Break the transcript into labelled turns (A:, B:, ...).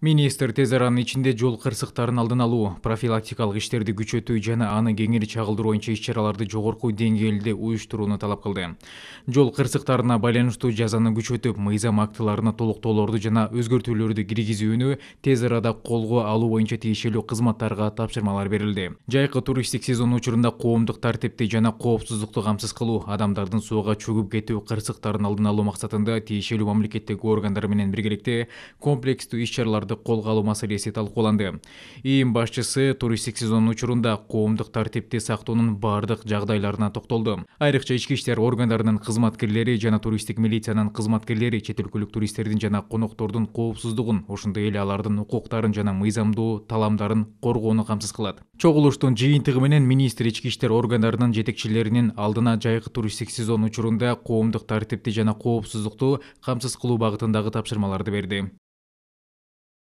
A: Министр тез аранын ичинде жол кырсыктарын алдын алуу, профилактикалык иштерди күчөтүү жана аны кеңири чагылдыруу боюнча иш-чараларды жогорку деңгээлде уюштурууну талап кылды. Жол кырсыктарына байланыштуу жазаны күчөтүп, мыйзам актыларына толуктоолорду жана өзгөртүүлөрдү киргизүүнү тез арада колго алуу боюнча тиешелүү кызматтарга тапшырмалар берилди. Жайкы туристтик сезон учурунда коомдук тартипти жана коопсуздукту камсыз кылуу, адамдардын сууга чөгүп кетүү кырсыктарын алдын алуу максатында тиешелүү мамлекеттик органдар менен биргеликте комплекстүү иш-чараларды колго алуу маселеси талкууланды. ИИМ башчысы туристтик сезондун учурунда коомдук тартипти сактоонун бардык жагдайларына токтолду. Айрыкча ички иштер органдарынын кызматкерлери жана туристтик милициянын кызматкерлери чет өлкөлүк туристтердин жана коноктордун коопсуздугун, ошондой эле алардын укуктарын жана мыйзамдуу таламдарын коргоону камсыз кылат. Чогулуштун жыйынтыгы менен министр ички иштер органдарынын жетекчилеринин алдына жайкы туристтик сезон учурунда коомдук тартипти жана коопсуздукту камсыз кылуу багытындагы тапшырмаларды берди.